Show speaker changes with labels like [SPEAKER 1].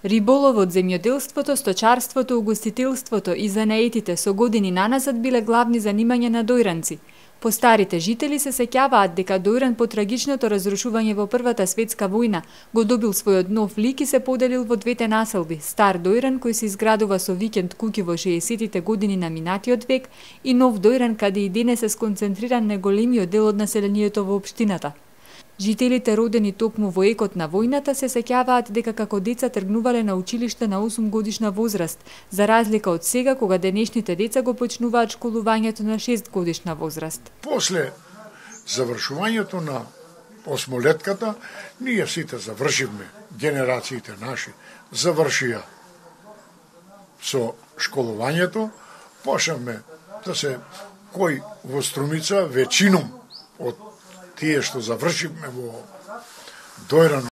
[SPEAKER 1] Риболовот, земјоделството, сточарството, угостителството и занаетите со години наназад биле главни занимања на дојранци. Постарите жители се сеќаваат дека Дојран по трагичното разрушување во Првата светска војна го добил својот нов лик и се поделил во двете населби: Стар Дојран кој се изградува со викенд куќи во 60-тите години на минатиот век и Нов Дојран каде и денес е сконцентриран најголемиот дел од населението во општината. Жителите родени токму во екот на војната се сеќаваат дека како деца тргнувале на училиште на 8 годишна возраст, за разлика од сега кога денешните деца го почнуваат школувањето на 6 годишна возраст.
[SPEAKER 2] После завршувањето на осмолетката, ние сите завршивме, генерациите наши завршија со школувањето, почнавме да се кој во Струмица, веćinom од тие што завршивме во Дојран